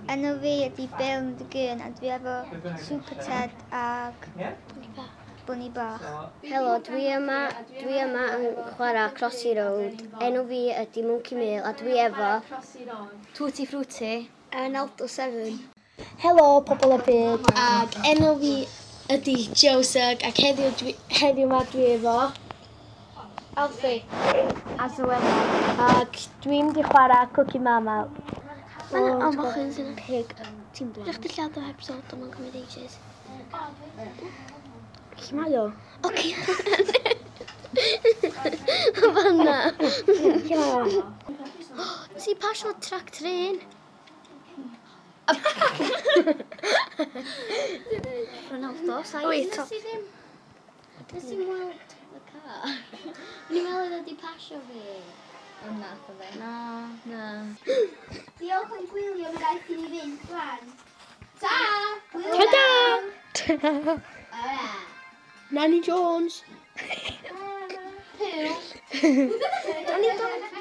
Enw fi ydi Bill McGurn a dwi efo Super Ted ag Bunny Bach. Helo, dwi yma, dwi yma yn chwarae Crossy Road. Enw fi ydi Monkey Mill a dwi efo Tutti Frutti. Alto 7. Helo pobl y byd, ac enw fi ydi Joseph, ac heddiw, dwi, heddiw ma dwi efo Alfie. A Zoena. Ac dwi'n mynd i chwarae Cookie Mama. Mae'n o mochyn sy'n Pig, ti'n blind. Rydych chi lladd o heb sod, ond mae'n cymryd ages. Lle mae o? Oce. Fanna. Lle mae o? Nes i pasio trac tren. Ronaldo, saith. Wait, Nes i ddim... Nes i weld y car. O'n i'n meddwl oedd wedi pasio fi. Ond nath o fe. Na. Na. Diolch am gwylio, mae rhaid i ni fynd rwan. Ta! Ta-da! Alright. Nanny Jones. Pw. Nanny Jones.